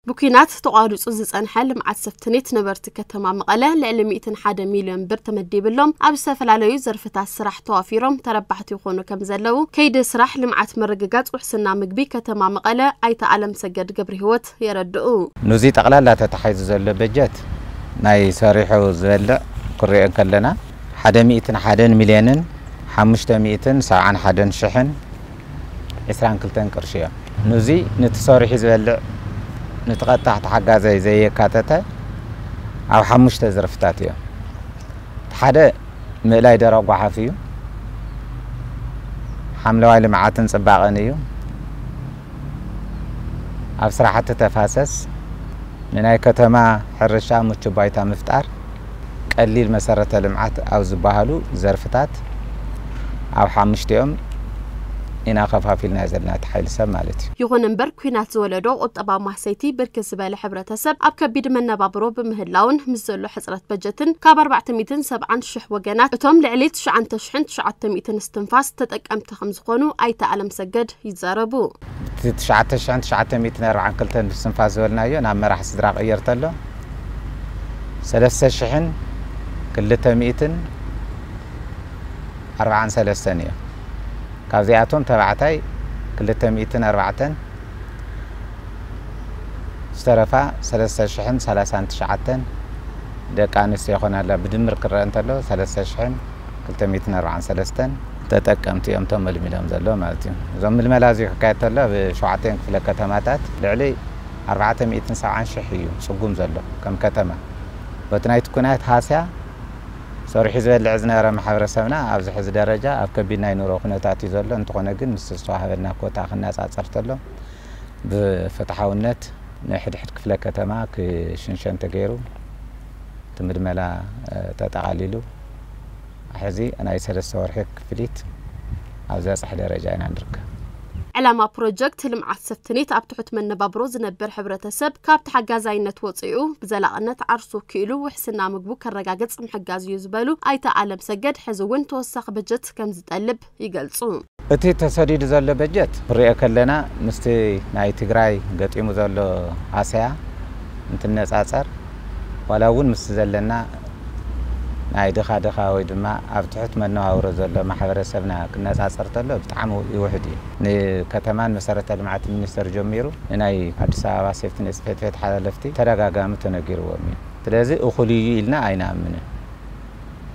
ብኲናት ተቋሪጹ ዝጸንሐ ልምዓት ሰፍትኔት ነበርቲ ከተማ መቐለ ልዕሊ ሚእትን ሓደ ሚልዮን ብር ተመዲብሎም ኣብ ዝተፈላለዩ ዘርፍታት ስራሕ ተዋፊሮም ተረባሕቲ ይኾኑ ከም ዘለዉ ከይዲ ስራሕ ልምዓት ምርግጋጽ ውሕስና ምግቢ ከተማ መቐለ ኣይተ ኣለም ሰገድ ገብረ ህይወት የረድኡ። ንዚ ጠቕላላ ተታሒዙ ዘሎ በጀት ናይ ሰሪሑ ዝበልዕ ክሪኦ ከለና ሓደ ሚእትን ሓደን ሚልዮንን ሓሙሽተ ሚእትን ሰብዓን ሓደን ሽሕን ዕስራን ክልተን ቅርሺ እዮም። ንዚ ንቲ ሰሪሑ ዝበልዕ ንቲ ቀጥታ ተሓጋዛይ ዘየካተተ ኣብ ሓሙሽተ ዘርፍታት እዮም። ሓደ ምእላይ ደረቕ ጓሓፍ እዩ። ሓምለዋይ ልምዓትን ጽባቐን እዩ። ኣብ ስራሕቲ ተፋሰስ ንናይ ከተማ ሕርሻ ምቹ ባይታ ምፍጣር፣ ቀሊል መሰረተ ልምዓት ኣብ ዝበሃሉ ዘርፍታት ኣብ ሓሙሽቲኦም ኢና ከፋፊልና ዘለና እቲ ሓይሊ ሰብ ማለት እዩ። ይኹን እምበር ኲናት ዝወለዶ ቁጠባ ማህሰይቲ ብርክት ዝበለ ሕብረተሰብ ኣብ ከቢድ መነባብሮ ብምህላውን ምስ ዘሎ ሕፅረት በጀትን ካብ ኣርባዕተ ሚእትን ሰብዓን ሽሕ ወገናት እቶም ልዕሊ ትሽዓተ ሽሕን ትሽዓተ ሚእትን እስትንፋስ ተጠቀምቲ ከም ዝኾኑ ኣይተ ኣለም ሰገድ ይዛረቡ። እቲ ትሽዓተ ሽሕን ትሽዓተ ሚእትን ኣርባዓን ክልተን ብስትንፋስ ዝበልናዮ ናብ መራሕ ስድራ ቀየር ተሎ ሰለስተ ሽሕን ክልተ ሚእትን ኣርባዓን ሰለስተን እዮም። ካብዚኣቶም ተባዕታይ ክልተ ሚእትን ኣርባዕተን ዝተረፋ ሰለስተ ሽሕን ሰላሳን ትሽዓተን ደቂ ኣንስትዮ ይኾና ኣላ። ብድምር ክረአ እንተሎ ሰለስተ ሽሕን ክልተ ሚእትን ኣርባዓን ሰለስተን ተጠቀምቲ እዮም እቶም መልሚሎም ዘሎ ማለት እዩ። እዞም ምልመላ እዚ ክካየድ ተሎ ኣብ ሸውዓተን ክፍለ ከተማታት ልዕሊ ኣርባዕተ ሚእትን ሰብዓን ሽሕ እዩ ጽጉም ዘሎ ከም ከተማ። በቲ ናይቲ ኩናት ሃስያ ሰሪሑ ዝበልዕ ዝነበረ ማሕበረሰብና ኣብዚ ሕዚ ደረጃ ኣብ ከቢድ ናይ ኑሮ ኩነታት እዩ ዘሎ። እንተኾነ ግን ምስ ዝተዋህበና ኮታ ክነጻጸር ተሎ ብፍትሓውነት ንሕድሕድ ክፍለ ከተማ ክሽንሸን ተገይሩ እቲ ምልመላ፣ እ፣ ተጠቓሊሉ ሕዚ ናይ ሰለስተ ወርሒ ክፍሊት ኣብ ዝበጽሐ ደረጃ ኢና ንርከብ። ዕላማ ፕሮጀክት ልምዓት ሰፍትኔት ኣብ ትሑት መነባብሮ ዝነብር ሕብረተሰብ ካብ ተሓጋዛይነት ወፂኡ ብዘላቕነት ዓርሱ ክኢሉ ውሕስና ምግቡ ከረጋግጽ ምሕጋዝ እዩ ዝበሉ ኣይተ ኣለም ሰገድ፣ ሕዚ እውን ተወሳኺ በጀት ከም ዝጠልብ ይገልጹ። እቲ ተሰዲዱ ዘሎ በጀት ክሪኦ ከለና ምስቲ ናይ ትግራይ ገጢሙ ዘሎ ሃስያ እንትነጻጸር ዋላ እውን ምስ ዘለና ናይ ድኻ ድኻ ወይ ድማ ኣብ ትሑት መነባብሮ ዘሎ ማሕበረሰብና ክነጻጸር ተሎ ብጣዕሚ ይውሕድ እዩ። ንከተማን መሰረተ ልምዓት ሚኒስቴር ጀሚሩ ንናይ ኣዲስ ኣበባ ሴፍትኔት ጽሕፈት ቤት ሓለፍቲ ተደጋጋሚ ተነጊርዎም እዩ። ስለዚ እኹል እዩ ኢልና ኣይንኣምንን።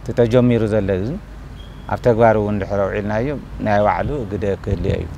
እቲ ተጀሚሩ ዘሎ ግን ኣብ ተግባር እውን ድሕሪ ኣውዒልናዮ ናይ ባዕሉ ግደ ክህልዮ እዩ።